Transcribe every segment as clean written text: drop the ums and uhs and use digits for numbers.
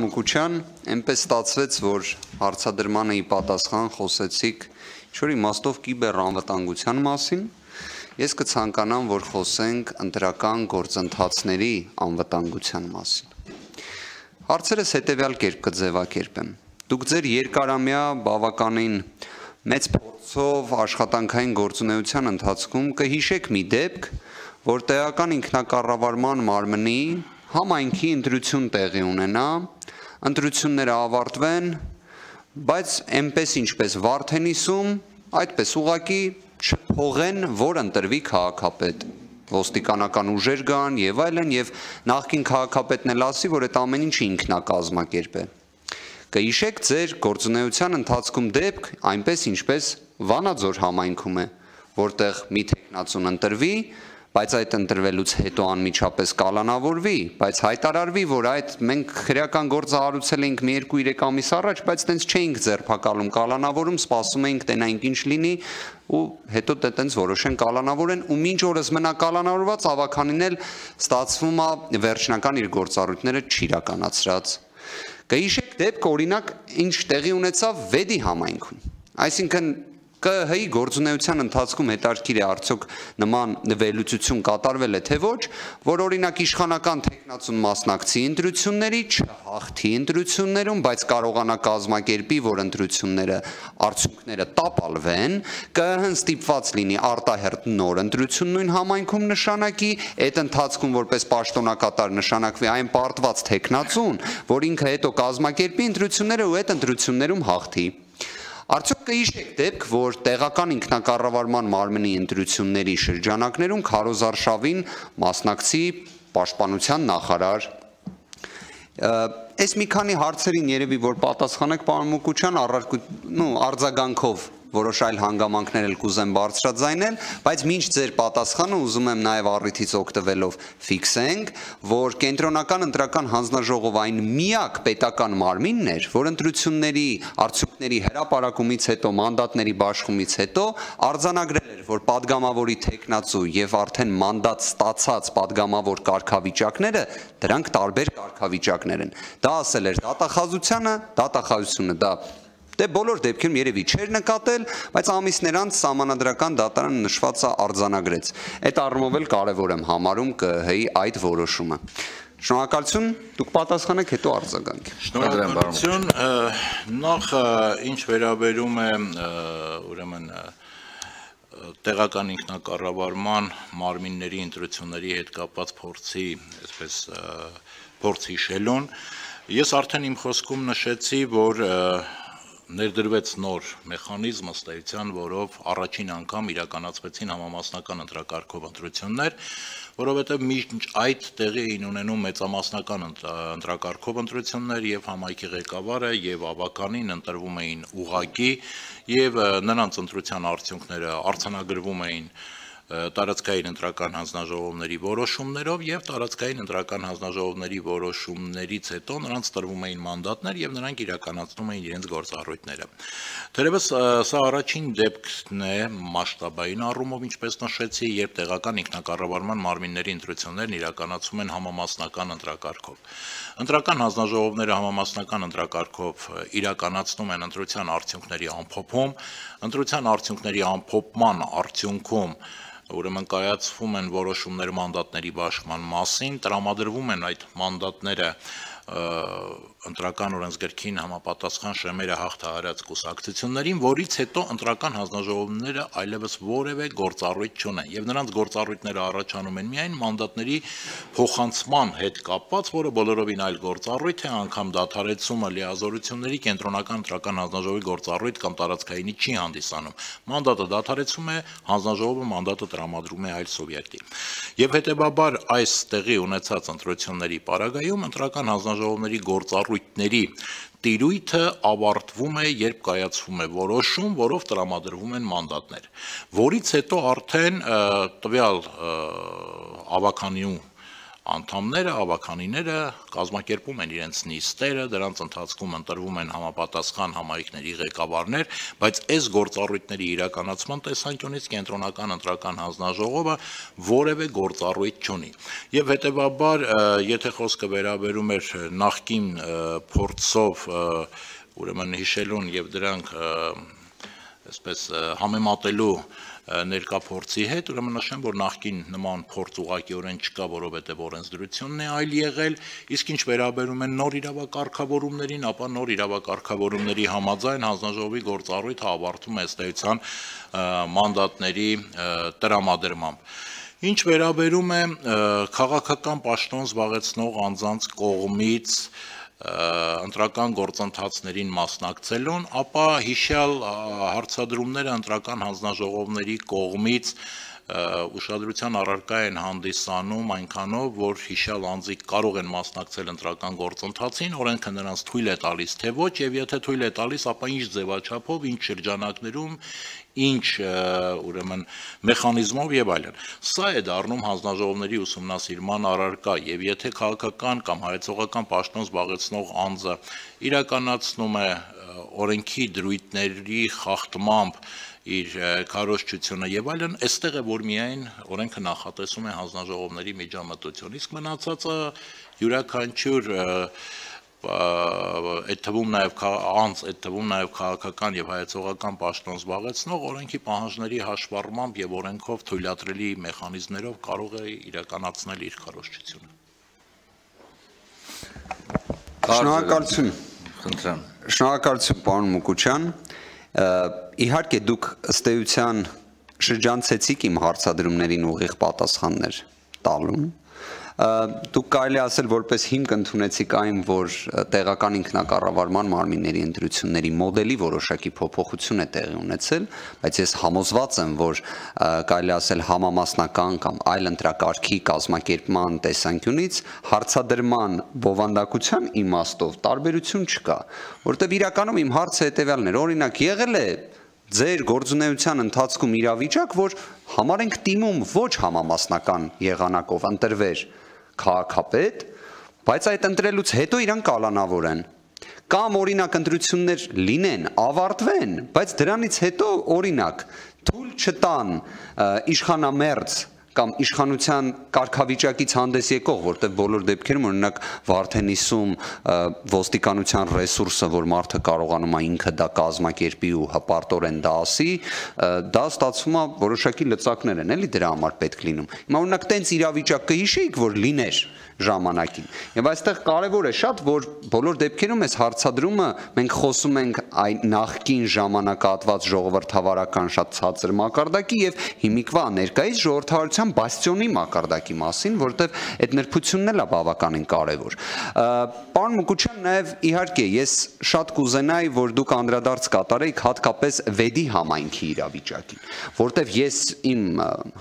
Մուկուչյան, այնպես ստացվեց, որ հարցադրմանը ի պատասխան խոսեցիք ինչ-որ իմաստով կիբեր անվտանգության մասին, ես կցանկանամ, որ խոսենք ընտրական գործընթացների անվտանգության մասին։ Հարցերս հետևյալ կերպ կձևակերպեմ։ Դուք ձեր երկարամյա բավականին մեծ փորձով աշխատանքային գործունեության ընթացքում կհիշեք մի դեպք, որ տեղական ինքնակառավարման մարմնի համայնքի ընտրություն տեղի ունենա, ընտրությունները ավարտվեն, բայց այնպես ինչպես Վարդենիսում, այդպես ուղղակի չփողեն, որ ընտրվի քաղաքապետ, ոստիկանական ուժեր գան եւ այլն, եւ նախկին քաղաքապետն էլ ասի, որ այդ ամեն ինչը ինքն է կազմակերպել։ Կհիշեք ձեր գործունեության ընթացքում դեպք, այնպես ինչպես Վանաձոր համայնքում է, որտեղ մի թեկնածուն ընտրվի, բայց այդ ընտրվելուց հետո անմիջապես կալանավորվի, բայց հայտարարվի, որ այդ մենք քրեական գործը հարուցել էինք մի 2-3 ամիս առաջ, բայց տենց չէինք ձերբակալում, կալանավորում, սպասում էինք տենայինք ինչ լինի, ու հետո տենց որոշեն կալանավորեն, ու մինչ օրս մնա կալանավորված, ավականին էլ ստացվում է վերջնական իր գործառույթները չիրականացրած։ Կհիշեք դեպք, օրինակ, ինչ տեղի ունեցավ Վեդի համայնքում, այսինքն ԿՀ-ի գործունեության ընթացքում հետաքրքիր է արդյոք նման վերլուծություն կատարվել է թե ոչ, որ օրինակ իշխանական թեկնածուն մասնակցի ընտրությունների, չհաղթի ընտրություններում, բայց կարողանա կազմակերպի, որ ընտրությունները արդյունքները տապալվեն, ԿՀ-ն ստիպված լինի արտահերթ նոր ընտրություն նույն համայնքում նշանակի, այդ ընթացքում որպես պաշտոնակատար նշանակվի այն պարտված թեկնածուն, որ ինքը հետո կազմակերպի ընտրությունները ու այդ ընտրություններում հաղթի։ Արդյոք կհիշեք դեպք, որ տեղական ինքնակառավարման մարմնի ընտրությունների շրջանակներում քարոզարշավին մասնակցի պաշտպանության նախարար։ Այս մի քանի հարցերին երևի որ պատասխանեք պարոն Մուկուչյան, արձագանքով որոշ այլ հանգամանքներ էլ կուզեմ բարձրաձայնել, բայց մինչ ձեր պատասխանը ուզում եմ նաև առիթից օգտվելով ֆիքսենք, որ կենտրոնական ընտրական հանձնաժողովը այն միակ պետական մարմինն էր, որ ընտրությունների արդյունքների հրապարակումից հետո, մանդատների բաշխումից հետո արձանագրել էր, որ падգամավորի թեկնածու եւ արդեն մանդատ ստացած падգամավոր կարգավիճակները դրանք տարբեր կարգավիճակներ են։ Դա ասել էր դատախազությունը, դա Դե բոլոր դեպքերում երևի չէր նկատել, բայց ամիսներ անց սահմանադրական դատարանը նշվածը արձանագրեց։ Այդ առումով էլ կարևոր եմ համարում ԿՀ-ի այդ որոշումը։ Շնորհակալություն, դուք պատասխանեք, հետո արձագանք։ Շնորհակալություն, նախ ինչ վերաբերում է ուրեմն տեղական ինքնակառավարման մարմինների ընտրությունների հետ կապված փորձի, այսպես փորձ հիշելուն, ես արդեն իմ խոսքում նշեցի, որ ներդրվեց նոր մեխանիզմ ըստ էության, որով առաջին անգամ իրականացվեցին համամասնական ընտրակարգով ընտրություններ, որովհետև մինչ այդ տեղի էին ունենում մեծամասնական ընտրակարգով ընտրություններ եւ համայնքի ղեկավարը եւ ավականին ընտրվում էին ուղղակի եւ նրանց ընտրության արդյունքները արձանագրվում էին տարածքային ընտրական հանձնաժողովների որոշումներով եւ տարածքային ընտրական հանձնաժողովների որոշումներից հետո նրանց տրվում էին մանդատներ եւ նրանք իրականացնում էին իրենց գործառույթները։ Թերևս սա առաջին դեպքն է մասշտաբային առումով, ինչպես նշեցի, երբ տեղական ինքնակառավարման մարմինների ընտրություններն իրականացվում են համամասնական ընտրակարգով։ Ընտրական հանձնաժողովները համամասնական ընտրակարգով իրականացնում են ընտրության արդյունքների ամփոփում, ընտրության արդյունքների ամփոփման արդյունքում ուրեմն կայացվում են որոշումներ մանդատների բաշխման մասին, տրամադրվում են այդ մանդատները ընտրական օրենսգրքին համապատասխան շեմերը հաղթահարած կուսակցություններին, որից հետո ընտրական հանձնաժողովները այլևս որևէ գործառույթ չունեն եւ նրանց գործառույթները առաջանում են միայն մանդատների փոխանցման հետ կապված, որը բոլորովին այլ գործառույթ է, անգամ դադարեցումը լիազորությունների կենտրոնական ընտրական հանձնաժողովի գործառույթ կամ տարածքայինի չի հանդիսանում։ Մանդատը դադարեցում է, հանձնաժողովը մանդատը տրամադրում է այլ սուբյեկտի։ Եվ հետեւաբար այս տեղի ունեցած ընտրությունների պարագայում ընտրական հանձնաժողովների գործառույթների տիրույթը ավարտվում է, երբ կայացվում է որոշում, որով տրամադրվում են մանդատներ, որից հետո արդեն տվյալ ավականյու անդամները, ավականիները կազմակերպում են իրենց նիստերը, դրանց ընթացքում ընտրվում են համապատասխան համայնքների ղեկավարներ, բայց այս գործառույթների իրականացման տեսանկյունից կենտրոնական ընտրական հանձնաժողովը որևէ գործառույթ չունի։ Եվ հետևաբար, եթե խոսքը վերաբերում էր նախկին փորձով ուրեմն հիշելուն եւ դրանք այսպես համեմատելու ներկա փորձի հետ, ուրեմն նշեմ, որ նախկին նման փորձ ուղղակիորեն չկա, որովհետև օրենսդրությունն է այլ եղել, իսկ ինչ վերաբերում են նոր իրավակարգավորումներին, ապա նոր իրավակարգավորումների համաձայն հանձնաժողովի գործառույթը ավարտվում է ըստ էության մանդատների տրամադրմամբ։ Ինչ վերաբերում է քաղաքական պաշտոն զբաղեցնող անձանց կողմից ընտրական գործընթացներին մասնակցելուն, ապա հիշյալ հարցադրումները ընտրական հանձնաժողովների կողմից ուշադրության առարկա են հանդիսանում այնքանով, որ հիշյալ անձիկ կարող են մասնակցել ընտրական գործընթացին, օրենքը նրանց թույլ է տալիս, թե ոչ, եւ եթե թույլ է տալիս, ապա ինչ ձևաչափով, ինչ շրջանակներում, ինչ ուրեմն մեխանիզմով եւ այլն։ Սա է դառնում հանձնաժողովների ուսումնասիրման առարկա, եւ եթե քաղաքական կամ հայեցողական պաշտոն զբաղեցնող անձը իրականացնում է օրենքի դրույթների խախտմամբ իր քարոզչությունը եւ այլն, այստեղ է որ միայն օրենքը նախատեսում է հանձնաժողովների միջամտություն, իսկ մնացածը յուրաքանչյուր այդ թվում նաև անձ, այդ թվում նաև քաղաքական եւ հայեցողական պաշտոն զբաղեցնող օրենքի պահանջների հաշվառմամբ եւ օրենքով թույլատրելի մեխանիզմներով կարող է իրականացնել իր քարոզչությունը։ Շնորհակալություն։ Խնդրեմ։ Շնորհակալություն, պարոն Մուկուչյան։ Իհարկե դուք ըստ էության շրջանցեցիք իմ հարցադրումներին ուղիղ պատասխաններ տալուն։ Դուք կարելի ասել որպես հիմք ընդունեցիք այն, որ տեղական ինքնակառավարման մարմինների ընտրությունների մոդելի որոշակի փոփոխություն է տեղի ունեցել, բայց ես համոզված եմ, որ կարելի ասել համամասնական կամ այլ ընտրակարգի կազմակերպման տեսանկյունից հարցադրման բովանդակության իմաստով տարբերություն չկա, որտեղ իրականում իմ հարցը հետևյալն էր, օրինակ եղել է ձեր գործունեության ընթացքում իրավիճակ, որ համար ենք դիմում ոչ համամասնական եղանակով ընտրվեր քաղաքապետ, բայց այդ ընտրելուց հետո իրան կալանավորեն, կամ օրինակ ընտրություններ լինեն, ավարտվեն, բայց դրանից հետո օրինակ թույլ չտան իշխանամերձ կամ իշխանության կարգավիճակից հանդես եկող, որտեղ բոլոր դեպքերում օրինակ Վարդենիսում ոստիկանության ռեսուրսը, որ մարդը կարողանում է ինքը դա կազմակերպի ու հպարտորեն դա ասի, դա ստացվում է որոշակի լծակներ են, էլի դրա համար պետք լինում։ Հիմա օրինակ տենց իրավիճակ կհիշեիք, որ լիներ ժամանակին։ Եվ այստեղ կարևոր է շատ, որ բոլոր դեպքերում այս հարցադրումը մենք խոսում ենք այն նախկին ժամանակահատված ժողովրդավարական շատ ցածր մակարդակի եւ հիմիկվա ներկայիս ժողովրդավարության բաստիոնի մակարդակի մասին, որտեղ այդ նրբությունն էլ է բավականին կարևոր։ Պարոն Մուկուչյան, նաեւ իհարկե ես շատ կուզենայի, որ դուք անդրադարձ կատարեիք հատկապես վեդի համայնքի իրավիճակին, որտեղ ես իմ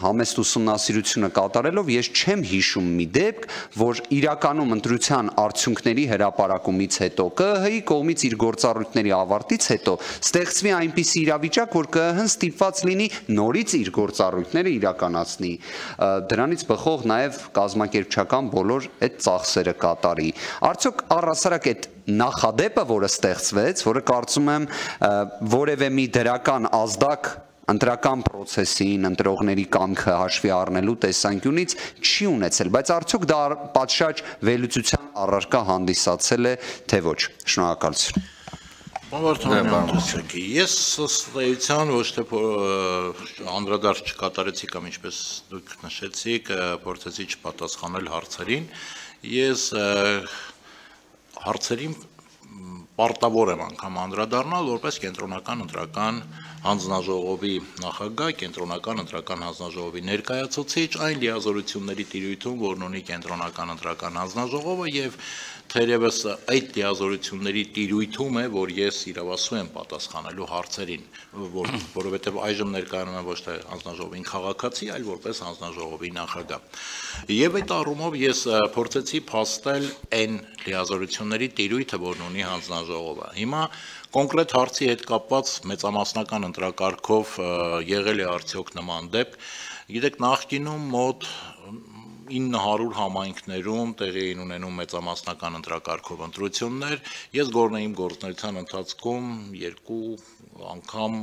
համեստ ուսումնասիրությունը կատարելով ես չեմ հիշում մի դեպք, որ իրականում ընտրության արդյունքների հրապարակումից հետո ԿԸՀ-ի կողմից իր գործառույթների ավարտից հետո ստեղծվի այնպիսի իրավիճակ, որ ԿԸՀ-ն ստիպված լինի նորից իր գործառույթները իրականացնի, դրանից բխող նաև կազմակերպչական բոլոր այդ ծախսերը կատարի։ Արդյոք առհասարակ այդ նախադեպը, որը ստեղծվեց, որը կարծում եմ որևէ մի դրական ազդակ ընտրական process-ին, ընտրողների կամքը հաշվի առնելու տեսանկյունից չի ունեցել, բայց արդյոք դա պատշաճ վերլուծության առարկա հանդիսացել է, թե ոչ։ Շնորհակալություն։ Ես ըստ էության ոչ թե անդրադարձ չկատարեցի կամ ինչպես դուք նշեցիք, փորձեցի չպատասխանել հարցերին, ես հարցերին պարտավոր եմ անգամ անդրադառնալ որպես կենտրոնական ընտրական հանձնաժողովի նախագահ, կենտրոնական ընտրական հանձնաժողովի ներկայացուցիչ այն լիազորությունների տիրույթում, որն ունի կենտրոնական ընտրական հանձնաժողովը եւ թերևս այդ լիազորությունների տիրույթում է, որ ես իրավասու եմ պատասխանելու հարցերին, որովհետեւ այժմ ներկայանում եմ ոչ թե հանձնաժողովին քաղաքացի, այլ որպես հանձնաժողովի նախագահ։ Եվ այդ առումով ես փորձեցի փաստել այն լիազորությունների տիրույթը, որն ունի հանձնաժողովը։ Հիմա կոնկրետ հարցի հետ կապված մեծամասնական ընտրակարգով եղել է արդյոք նման դեպք։ Գիտեք, նախկինում մոտ 900 համայնքներում տեղի էին ունենում մեծամասնական ընտրակարգով ընտրություններ, ես գործնեիմ գործունեության ընթացքում երկու անգամ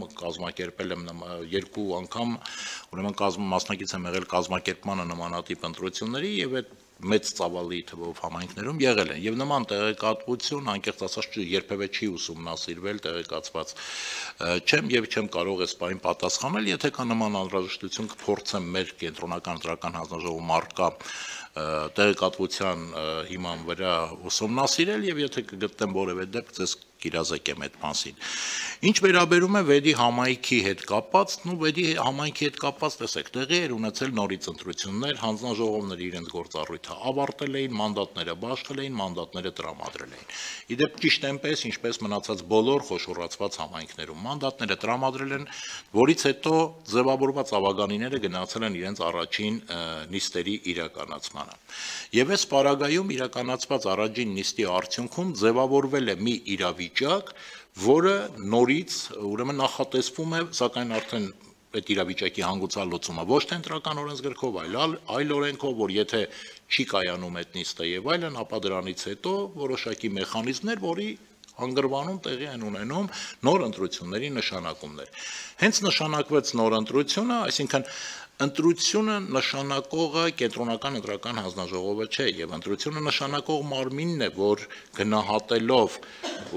մասնակից եմ եղել կազմակերպմանը նմանատիպ ընտրությունների եւ այդ մեծ ծավալի թվով համայնքներում եղել են եւ նման տեղեկատվություն անկեղծ ասած երբևէ չի ուսումնասիրվել տեղեկացված չեմ եւ չեմ կարող այս բանին պատասխանել եթե կա նման անհրաժեշտություն կփորձեմ մեր կենտրոնական ընտրական հանձնաժողովում առկա տեղեկատվության հիման վրա ուսումնասիրել եւ եթե կգտնեմ որևէ դեպք ձեզ կիրազեկեմ այդ մասին ինչ վերաբերում է վեդի համայնքի հետ կապված վեդի համայնքի հետ կապված տեսեք տեղի էր ունեցել նորից ընտրություններ հանձնաժողովները իրենց գործառույթը ավարտել էին մանդատները բաշխել էին մանդատները տրամադրել էին իդեպ ճիշտ այնպես ինչպես մնացած բոլոր խոշորացված համայնքներում մանդատները տրամադրել են որից հետո ձևավորված ավագանիները գնացել են իրենց առաջին նիստերի իրականացմանը եւ այս պարագայում իրականացված առաջին նիստի արդյունքում ձևավորվել է մի իրավիճակ որը նորից ուրեմն նախատեսվում է սակայն արդեն այդ իրավիճակի հանգուցալուծումը ոչ թե ընտրական օրենսգրքով այլ օրենքով որ եթե չի կայանում այդ նիստը եւ այլն ապա դրանից հետո որոշակի մեխանիզմներ որի հանգրվանում տեղի են ունենում նոր ընտրությունների նշանակումներ հենց նշանակվեց նոր ընտրությունը այսինքն ընտրությունը նշանակողը կենտրոնական ընտրական հանձնաժողովը չէ եւ ընտրությունը նշանակող մարմինն է որ գնահատելով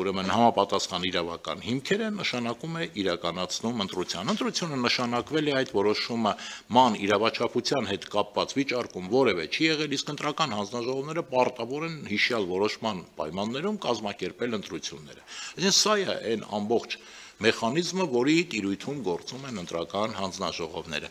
ուրեմն համապատասխան իրավական հիմքերը նշանակում է իրականացնում ընտրությունը նշանակվել է այդ որոշումը ման իրավաչափության հետ կապված վիճարկում որևէ չի եղել իսկ ընտրական հանձնաժողովները պարտավոր են հիշյալ որոշման պայմաններում կազմակերպել ընտրությունները այսինքն սա է այն ամբողջ մեխանիզմը որի տիրույթում գործում են ընտրական հանձնաժողովները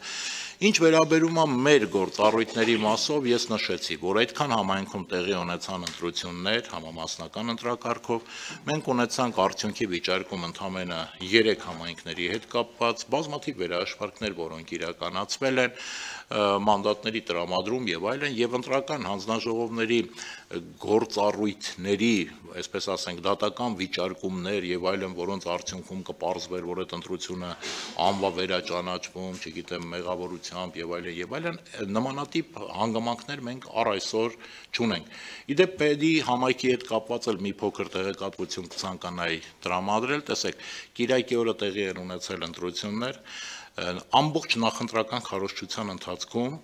Ինչ վերաբերում է մեր գործառույթների մասով ես նշեցի, որ այդքան համայնքում տեղի ունեցան ընտրություններ համամասնական ընտրակարգով, մենք ունեցանք արդյունքի վիճարկում ընդամենը 3 համայնքների հետ կապված բազմաթիվ վերահաշվարկներ, որոնք իրականացվել են, մանդատների տրամադրում եւ այլն եւ ընտրական հանձնաժողովների գործառույթների, այսպես ասենք, դատական վիճարկումներ եւ այլն, որոնց արդյունքում կպարզվեր, որ այդ ընտրությունը անվավերաճանաչվում, չգիտեմ, մեղավորությամբ եւ այլն, նմանատիպ հանգամանքներ մենք առ այսօր չունենք։ Իդեպ պետի համայնքի հետ կապված էլ մի փոքր տեղեկատվություն կցանկանայի տրամադրել, տեսեք, Կիրակի օրը տեղի են ունեցել ընտրություններ, ամբողջ նախընտրական քարոզչության ընթացքում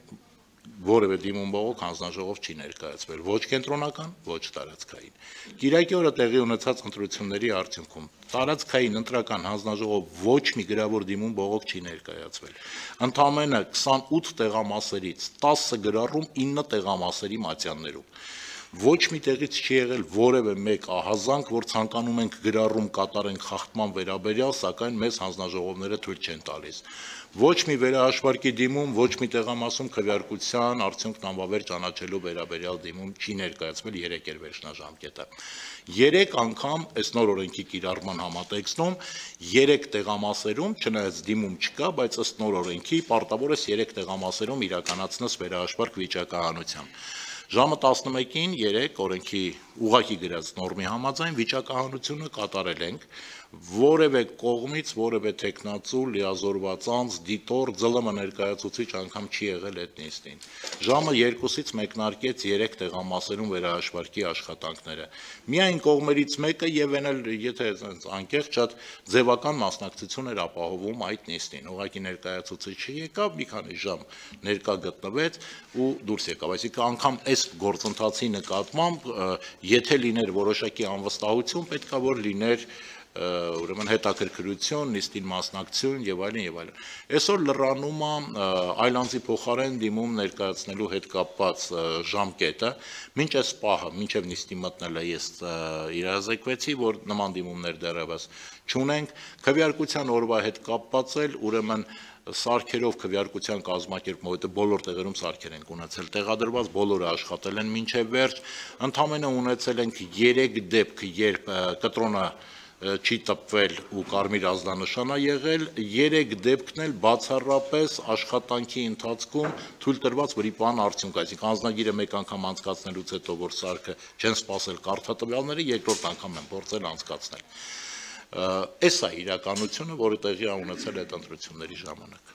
որևէ դիմում բողոք հանձնաժողով չի ներկայացվել, ոչ կենտրոնական, ոչ տարածքային։ Կիրակի օրը տեղի ունեցած ընտրությունների արդյունքում տարածքային ընտրական հանձնաժողով ոչ մի գրավոր դիմում բողոք չի ներկայացվել։ Ընդամենը 28 տեղամասերից 10 գրառում 9 տեղամասերի մատյաններում։ Ոչ մի տեղից չի եղել որևէ մեկ ահազանգ, որ ցանկանում ենք գրառում կատարենք խախտման վերաբերյալ, սակայն մեզ հանձնաժողովները թույլ չեն տալիս։ Ոչ մի վերահաշվարկի դիմում, ոչ մի տեղամասում քվեարկության արդյունքն անվավեր ճանաչելու վերաբերյալ դիմում չի ներկայացվել 3 էր վերջնաժամկետը։ 3 անգամ այս նոր օրենքի կիրառման համատեքստում 3 տեղամասերում, չնայած դիմում չկա, բայց ըստ նոր օրենքի պարտավոր ես 3 տեղամասերում իրականացնես վերահաշվարկ վիճակահանությամբ։ Ժամը 11-ին 3 օրենքի ուղղակի գրած նորմի համաձայն վիճակահանությունը կատարել ենք, որևէ կողմից, որևէ տեխնացու, լիազորված անձ, դիտոր, ԶԼՄ ներկայացուցիչ անգամ չի եղել այդ նիստին։ Ժամը 2-ից մեկնարկեց 3 տեղամասերում վերահաշվարկի աշխատանքները։ Միայն կողմերից մեկը եւ այն էլ, եթե անկեղծ շատ ձևական մասնակցություն էր ապահովում այդ նիստին։ Ուղղակի ներկայացուցիչ եկավ, մի քանի ժամ ներկա գտնվեց ու դուրս եկավ։ Այսինքն անգամ այս գործընթացի նկատմամբ եթե լիներ որոշակի անվստահություն, պետքա որ լիներ ուրեմն հետաքրքրություն, նիստին մասնակցություն եւ այլն եւ այլն։ Այսօր լրանում է այլանձի փոխարեն դիմում ներկայացնելու հետ կապված ժամկետը, մինչ այս պահը, մինչեւ նիստի մտնելը ես իրազեկվեցի, որ նման դիմումներ դեռևս չունենք, քվեարկության օրվա հետ կապված էլ ուրեմն սարքերով քվեարկության կազմակերպումը, որտեղ բոլոր տեղերում սարքեր են ունեցել, տեղադրված բոլորը աշխատել են մինչև վերջ, ընդամենը ունեցել ենք 3 դեպք, երբ կտրոնը չի տպվել ու կարմիր ազդանշան է եղել, 3 դեպքն էլ բացառապես աշխատանքի ընթացքում թույլ տրված վրիպան արդյունք, այսինքն անձնագիրը մեկ անգամ անցկացնելուց հետո, որ սարքը չեն սպասել կարգատվյալները, երկրորդ անգամ են փորձել անցկացնել։ Այս է իրականությունը, որը տեղի է ունեցել այդ ընտրությունների ժամանակ։